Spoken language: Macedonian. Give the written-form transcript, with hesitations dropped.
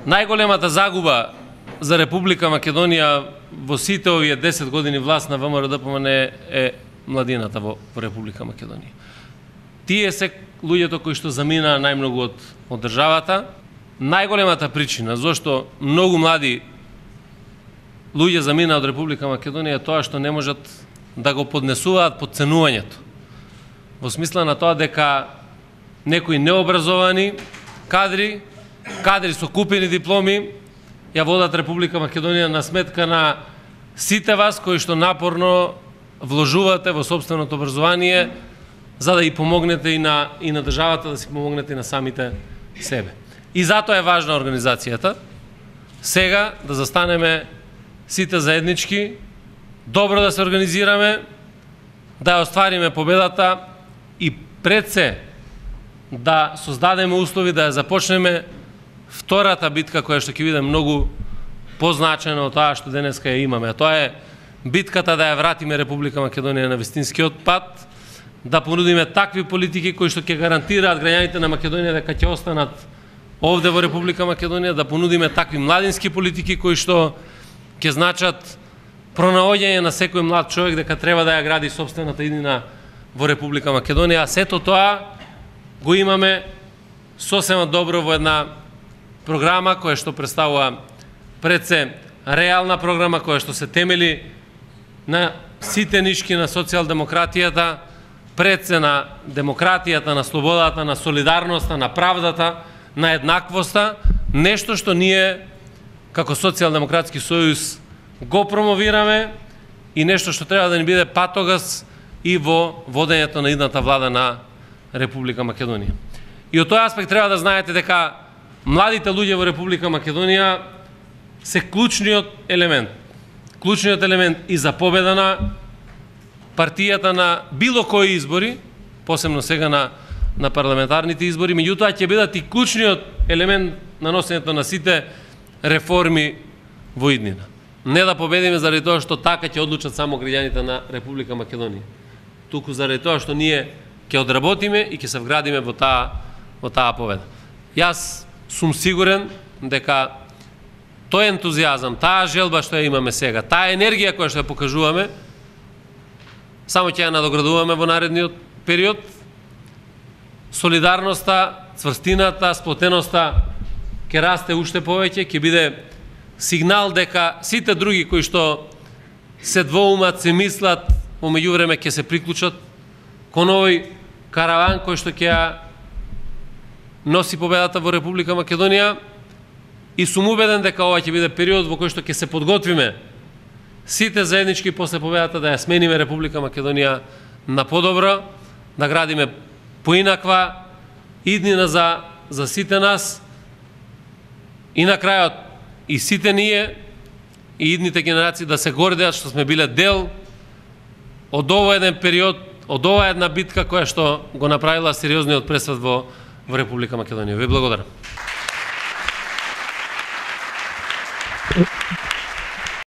Најголемата загуба за Република Македонија во сите овие 10 години власт на ВМРО-ДПМН е младината во Република Македонија. Тие се луѓето кои што заминаа најмногу од државата. Најголемата причина зашто многу млади луѓе заминаа од Република Македонија е тоа што не можат да го поднесуваат подценувањето. Во смисла на тоа дека некои необразовани кадри со купени дипломи ја водат Република Македонија на сметка на сите вас кои што напорно вложувате во сопственото образование за да и помогнете и на државата, да си помогнете и на самите себе. И затоа е важна организацијата сега да застанеме сите заеднички, добро да се организираме, да ја оствариме победата и пред се да создадеме услови да ја започнеме втората битка која што ќе биде многу позначена од тоа што денеска ја имаме. Тоа е битката да ја вратиме Република Македонија на вистинскиот пат, да понудиме такви политики кои што ќе гарантираат граѓаните на Македонија дека ќе останат овде во Република Македонија, да понудиме такви младински политики кои што ќе значат пронаоѓање на секој млад човек дека треба да ја гради сопствената иднина во Република Македонија. А сето тоа го имаме сосема добро во една програма која што представува пред се реална програма која што се темели на сите нишки на социјалдемократијата, пред се на демократијата, на слободата, на солидарноста, на правдата, на еднаквоста, нешто што ние како Социјалдемократски сојуз го промовираме и нешто што треба да ни биде патогас и во водењето на идната влада на Република Македонија. И од тој аспект треба да знаете дека младите луѓе во Република Македонија се клучниот елемент и за победа на партијата на било кои избори, посебно сега на парламентарните избори, меѓутоа ќе бидат и клучниот елемент на носењето на сите реформи во иднина. Не да победиме заради тоа што така ќе одлучат само граѓаните на Република Македонија, туку заради тоа што ние ќе одработиме и ќе се вградиме во таа победа. Јас сум сигурен дека тој ентузијазам, таа желба што ја имаме сега, таа енергија која што ја покажуваме, само ќе ја надоградуваме во наредниот период. Солидарноста, цврстината, сплотеноста ќе расте уште повеќе, ќе биде сигнал дека сите други кои што се двоумат, се мислат, во меѓувреме ќе се приклучат кон овој караван кој што ќе ја носи победата во Република Македонија, и сум убеден дека ова ќе биде период во кој што ќе се подготвиме сите заеднички после победата да ја смениме Република Македонија на подобро, да градиме поинаква иднина за сите нас и на крајот и сите ние и идните генерации да се гордеат што сме биле дел од овој еден период, од оваа една битка која што го направила сериозниот пресвет во Република Македонија. Ви благодарам.